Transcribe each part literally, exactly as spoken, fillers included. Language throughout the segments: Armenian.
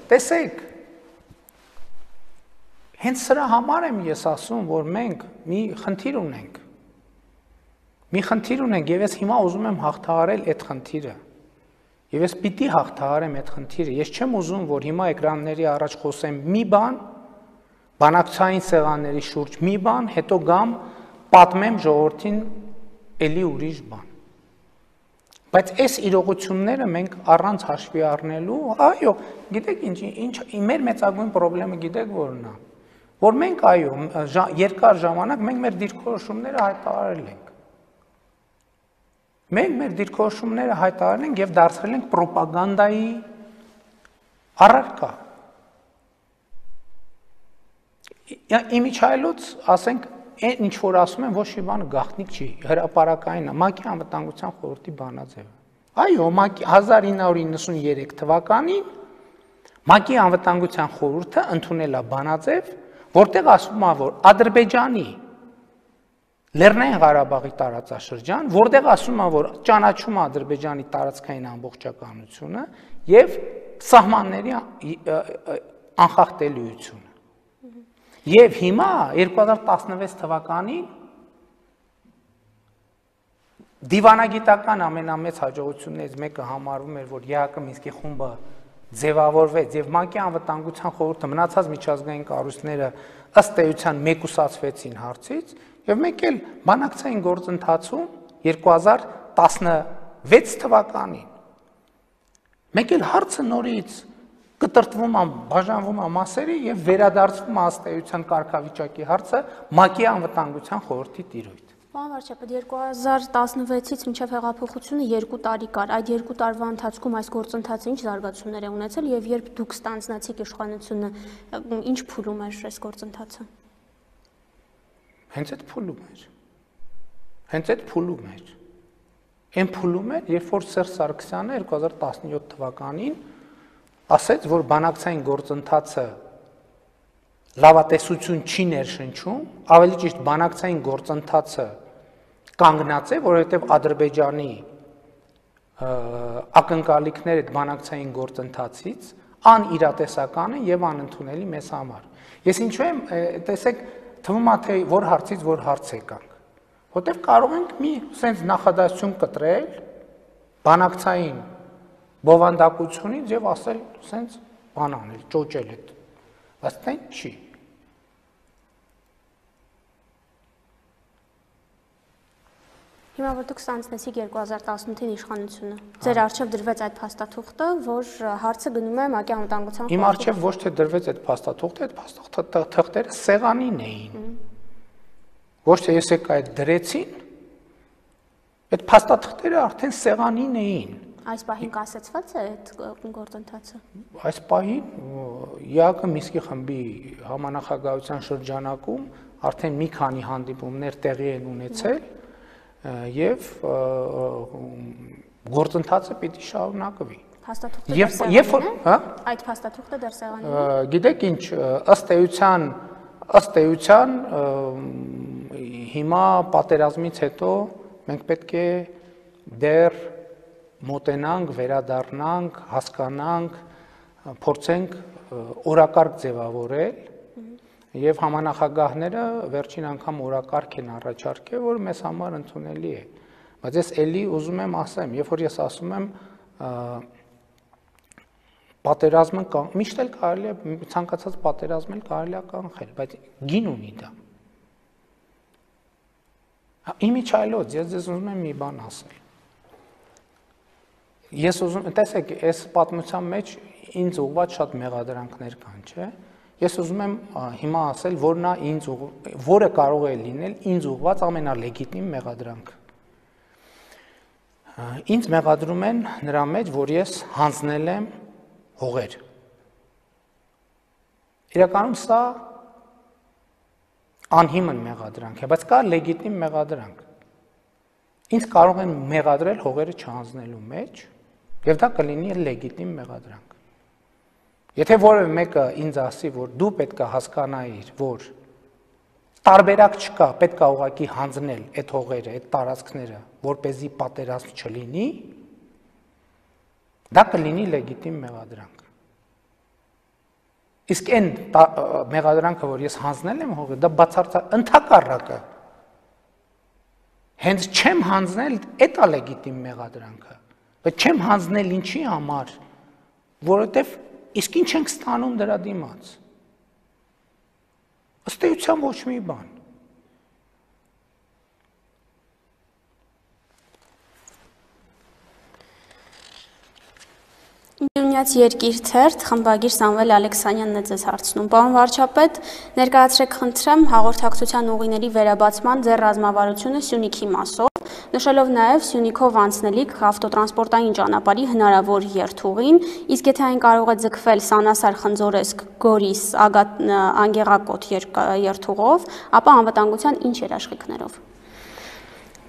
տեսեք, հենց սրա համար եմ ես ասում, որ մենք մի խնդիր ունենք, մի խնդիր ունենք և ես հիմա ուզում եմ հաղթահարել այդ խնդիրը, և ես պիտի հաղթահարեմ այդ խնդիրը, ես չեմ ուզում, որ հիմա էկրանների առաջ խոսեմ մի բան, բանակցային սեղանների շուրջ մի բան, հետո գամ պատմեմ ժողովրդին էլի ուրիշ բան։ Բայց այս իրողությունները մենք առանց հաշվի առնելու, այո, գիտեք ինչ, ինչ մեր մեծագույն խնդիրը գիտեք որն է, որ մենք այո, երկար ժամանակ մենք մեր դիրքորոշումները հայտարարել ենք։ Մենք մեր դիրքորոշումները հայտարարել ենք և դարձրել ենք պրոպագանդայի առարկա։ Իմիջիայլոց, ասենք, այն ինչ որ ասում են, ոչ մի բան գաղտնիք չի, հրապարակային է, ՄԱԿ-ի անվտանգության խորհրդի բանաձևը։ Այո, հազար ինը հարյուր իննսուներեք թվականին ՄԱԿ-ի անվտանգության խորհուրդը ընդունել է բանաձև, որտեղ ասվում է, որ Ադրբեջանի Լեռնային Ղարաբաղի տարածաշրջան, որտեղ ասում է, որ ճանաչում է Ադրբեջանի տարածքային ամբողջականությունը և սահմանների անխախտելիությունը։ Եվ հիմա երկու հազար տասնվեց թվականին դիվանագիտական ամենամեծ հաջողություններից մեկը համարվում էր, որ ԵԱՀԿ Մինսկի խումբը ձևավորվեց և ՄԱԿ-ի անվտանգության խորհուրդը մնացած միջազգային կառույցները ըստ էության մեկուսացվեցին հարցից, և մենք էլ բանակցային գործընթացում երկու հազար տասնվեց թվականին մենք էլ հարցը նորից կտրտվում է, բաժանվում է մասերի և վերադարձվում է ըստ էության կարգավիճակի հարցը ՄԱԿ-ի անվտանգության խորհրդի տիրույթ։ Պարոն վարչապետ, երկու հազար տասնվեցից մինչև հեղափոխությունը երկու տարի կար, այդ երկու տարվա ընթացքում այս գործընթացը ինչ զարգացումներ է ունեցել և երբ դուք ստանձնացիք իշխանությունը, ինչ փուլում էր այս գործընթացը։ Հենց այդ փուլում էր, հենց այդ փուլում էր, այն փուլում էր, երբ որ Սերժ Սարգսյանը երկու հազար տասնյոթ թվականին ասեց, որ բանակցային գործընթացը լավատեսություն չի ներշնչում, ավելի ճիշտ բանակցային գործընթացը կանգնած է, որովհետև Ադրբեջանի ակնկալիքները այդ բանակցային գործընթացից անիրատեսական են և անընդունելի մեզ համար։ Ես ինչու եմ, տեսեք, թվում է թե որ հարցից որ հարց եկանք, որտեղ կարող ենք մի սենց նախադասություն կտրել բանակցային բովանդակությունից և ասել սենց բան անել, ճոճել այդ, բայց դա չի։ Հիմա որ դուք ստանձնեցիք երկու հազար տասնութին իշխանությունը, ձեր առջև դրվեց այդ փաստաթուղթը, որ հարցը գնում է ՄԱԿ-ի անվտանգության խորհրդի։ Իմ առջև ոչ թե դրվեց այդ փաստաթուղթը, այդ փաստաթղթերը սեղանին էին։ Ոչ թե ես եկա այդ դրեցին, այդ փաստաթղթերը արդեն սեղանին էին։ Այս պահին կասեցված է այդ գործընթացը։ Այս պահին ԵԱՀԿ Մինսկի խմբի համանախագահության շրջանակում արդեն մի քանի հանդիպումներ տեղի են ունեցել և գործընթացը պիտի շարունակվի։ Փաստաթուղթը դեռ սեղանին է։ Այդ փաստաթուղթը դեռ սեղանին է։ Գիտեք ինչ, ըստ էության, ըստ էության հիմա պատերազմից հետո մենք պետք է դեռ մոտենանք, վերադառնանք, հասկանանք, փորձենք օրակարգ ձևավորել և համանախագահները վերջին անգամ օրակարգ են առաջարկել, որ մեզ համար ընդունելի է։ Բայց ես էլի ուզում եմ ասեմ, երբ որ ես ասում եմ պատերազմը, միշտ էլ կարելի է, ցանկացած պատերազմ էլ կարելի է կանխել, բայց գին ունի դա։ Իմիջիայլոց, ես ձեզ ուզում եմ մի բան ասել։ Ես ուզում, տեսեք, այս պատմության մեջ ինձ ուղղված շատ մեղադրանքներ կան, չէ՞։ Ես ուզում եմ հիմա ասել, որ նա ինձ որը կարող է լինել ինձ ուղղված ամենալեգիտիմ մեղադրանքը։ Ինձ մեղադրում են նրա մեջ, որ ես հանձնել եմ հողեր։ Իրականում սա անհիմն մեղադրանք է, բայց կա լեգիտիմ մեղադրանք։ Ինձ կարող են մեղադրել հողերը չհանձնելու մեջ, և դա կլինի լեգիտիմ մեղադրանք։ Եթե որևէ մեկը ինձ ասի, որ դու պետք է հասկանայիր, որ տարբերակ չկա, պետք է ուղղակի հանձնել այդ հողերը, այդ տարածքները, որպեսզի պատերազմ չլինի, դա կլինի լեգիտիմ մեղադրանք։ Իսկ այն մեղադրանքը, որ ես հանձնել եմ հողի, դա բացարձակ ընդհակառակը։ Հենց չեմ հանձնել, էդ է լեգիտիմ մեղադրանքը, բայց չեմ հանձնել ինչի համար, որովհետև իսկ ինչ ենք ստանում դրա դիմաց։ Ըստ էության ոչ մի բան։ Նյունյաց երկիր թերթ, խմբագիր Սամվել Ալեքսանյանն է ձեզ հարցնում։ Պարոն վարչապետ, ներկայացրեք խնդրեմ հաղորդակցության ուղիների վերաբացման ձեր ռազմավարությունը Սյունիքի մասով, նշելով նաև Սյունիքով անցնելիք ավտոտրանսպորտային ճանապարհի հնարավոր երթուղին, իսկ եթե այն կարող է ձգվել Սանասար, Խնձորեսկ, Գորիս, Անգեղակոտ երթուղով, ապա անվտանգության ինչ երաշխիքներով։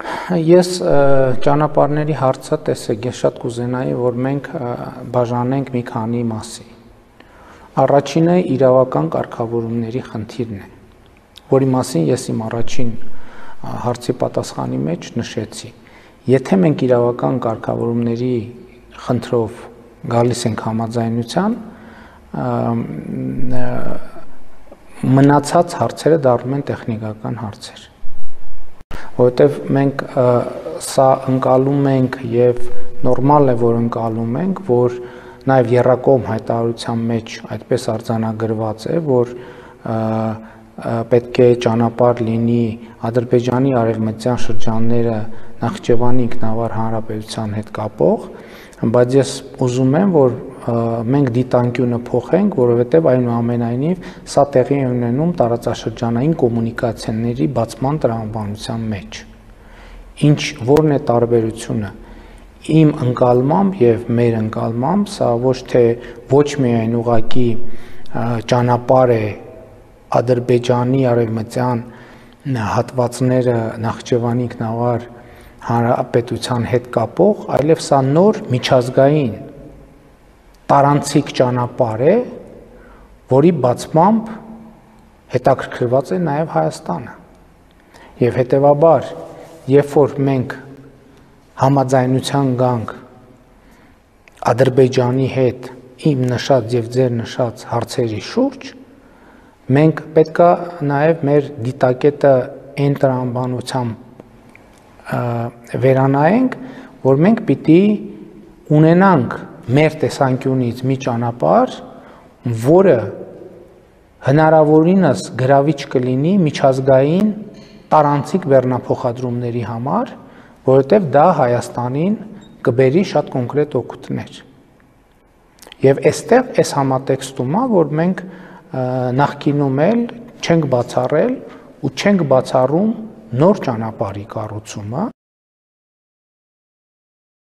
Ես ճանապարհների հարցը տեսեք, ես շատ կուզենայի, որ մենք բաժանենք մի քանի մասի։ Առաջինը իրավական կարգավորումների խնդիրն է, որի մասին ես իմ առաջին հարցի պատասխանի մեջ նշեցի։ Եթե մենք իրավական կարգավորումների խնդրով գալիս ենք համաձայնության, մնացած հարցերը դառնում են տեխնիկական հարցեր։ Որովհետև մենք սա ընկալում ենք եւ նորմալ է, որ ընկալում ենք, որ նաեւ եռակողմ հայտարարության մեջ այդպես արձանագրված է, որ պետք է ճանապարհ լինի Ադրբեջանի արևմտյան շրջանները Նախճեվանի ինքնավար հանրապետության հետ կապող, բայց ես ուզում եմ, որ մենք դիտանկյունը փոխենք, որովհետև այնուամենայնիվ սա տեղի է ունենում տարածաշրջանային կոմունիկացիաների բացման տրամաբանության մեջ։ Ինչ որն է տարբերությունը։ Իմ ընկալմամբ եւ մեր ընկալմամբ սա ոչ թե ոչ միայն ուղղակի ճանապարհ է Ադրբեջանի արևմտյան հատվածները Նախճեվանի ինքնավար հանրապետության հետ կապող, այլև սա նոր միջազգային տարանցիկ ճանապարհ է, որի բացմամբ հետաքրքրված է նաև Հայաստանը։ Եվ հետևաբար, երբ որ մենք համաձայնության գանք Ադրբեջանի հետ իմ նշած եւ ձեր նշած հարցերի շուրջ, մենք պետք է նաև մեր դիտակետը այն տրամաբանությամբ վերանայենք, որ մենք պիտի ունենանք մեր տեսանկյունից մի ճանապարհ, որը հնարավորինս գրավիչ կլինի միջազգային տարանցիկ բեռնափոխադրումների համար, որովհետև դա Հայաստանին կբերի շատ կոնկրետ օգուտներ։ Եվ այստեղ այս համատեքստում է, որ մենք նախկինում էլ չենք բացառել ու չենք բացառում նոր ճանապարհի կառուցումը,